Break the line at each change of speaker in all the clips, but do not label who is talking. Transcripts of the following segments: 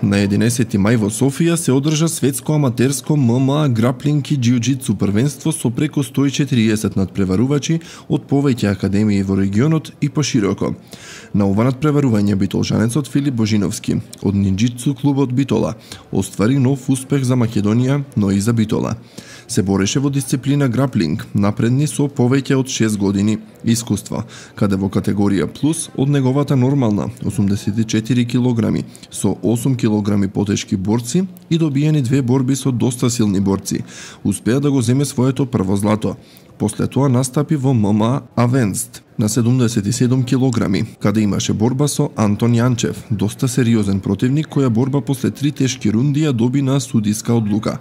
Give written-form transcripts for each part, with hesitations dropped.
На 11 мај во Софија се одржа светско аматерско ММА граплинг и џиу-џитсу првенство со преку 140 надпреварувачи од повеќе академии во регионот и пошироко. На ова надпреварување битолжанецот Филип Божиновски од ниндџитсу клубот Битола оствари нов успех за Македонија, но и за Битола. Се бореше во дисциплина граплинг, напредни со повеќе од 6 години искуство, каде во категорија плюс од неговата нормална 84 килограми со 8 килограми потешки борци и добиени 2 борби со доста силни борци, успеа да го земе своето прво злато. После тоа настапи во ММА Авенст на 77 килограми, каде имаше борба со Антон Јанчев, доста сериозен противник, која борба после 3 тешки рунди ја доби на судиска одлука.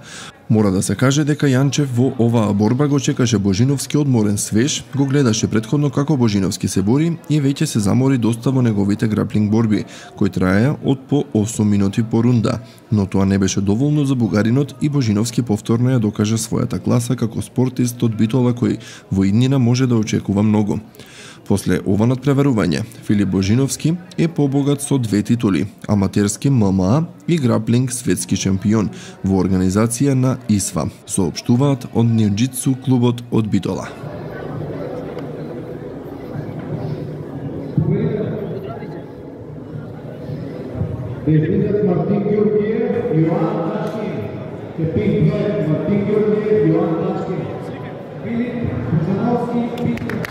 Мора да се каже дека Јанчев во оваа борба го чекаше Божиновски одморен свеж, го гледаше претходно како Божиновски се бори и веќе се замори доста во неговите граплинг борби, кои траеа од по 8 минути по рунда. Но тоа не беше доволно за бугаринот и Божиновски повторно ја докажа својата класа како спортист од Битола кој во иднина може да очекува многу. После ова надпреварување, Филип Божиновски е побогат со 2 титули, аматерски ММА и граплинг светски шампион во организација на ИСВА, соопштуваат од ниндџитсу клубот од Битола.
Мартин Ѓурѓиев, Јоан Тачкин. Марtin Ѓурѓиев, Јоан Тачкин. Филип Божиновски,